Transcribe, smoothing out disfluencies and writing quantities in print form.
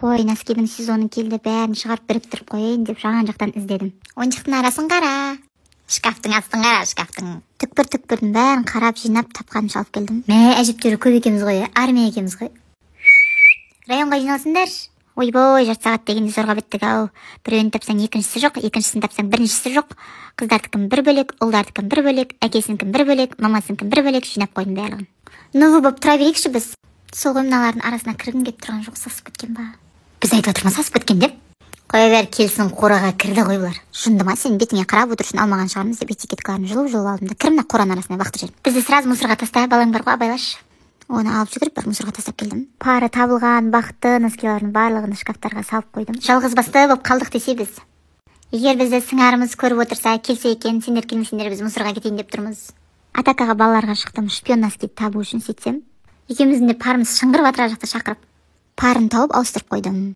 Ой, носкидің сезоны келді, бәрін шығарып біріктіріп қойайын деп жаған жақтан іздедім. Ойыншықтың арасын қара. Шкафтың астын қара, шкафтың. Түкпір-түкпірдің бәрін қарап, жинап, тапқанымша алып келдім. Мә, әжептәуір көп екенбіз ғой, армия екенбіз ғой. Районға жиналсыңдар. Ойбой, жарты сағат дегенде зорға біттік ау. Біреуін тапсаң екіншісі жоқ, екіншісін тапсаң біріншісі жоқ. Қыздардікін бір бөлек, ұлдардікін бір бөлек, әкесінікін бір бөлек, мамасынікін бір бөлек жинап қойдым барлығын. Ну, боп тұра берейікші біз. Сол ғой мыналардың арасына кіргім келіп тұрған жоқ, сасып кеткен ба? Біз айтып отырмыз сасып кеткен деп. Қоя бер, келсін, қораға кірді ғой бұлар. Жынды ма, сен бетіңе қарап отырышын алмаған шығармыз деп этикеткаларын жұлып алдым да кір мына қораның арасына бақты жүрмін. Бізді сразу мусорға таста, балаң бар ғой, абайлашы. Оны алып жүгіріп бір мусорға тастап келдім. Пары табылған бақты носкилардың барлығын шкафтарға салып қойдым. Жалғыз басты болып қалдық десе біз. Егер бізді сыңарымыз көріп отырса, келсе екен, сендер келмесеңдер біз мусорға кетейін деп тұрмыз. Атакаға балаларға шықтым, шпион носкиді табу үшін сөйтсем, екеуміздің де парымыз шыңғырып атыра жақта шақырып, парын тауып ауыстырып қойдым.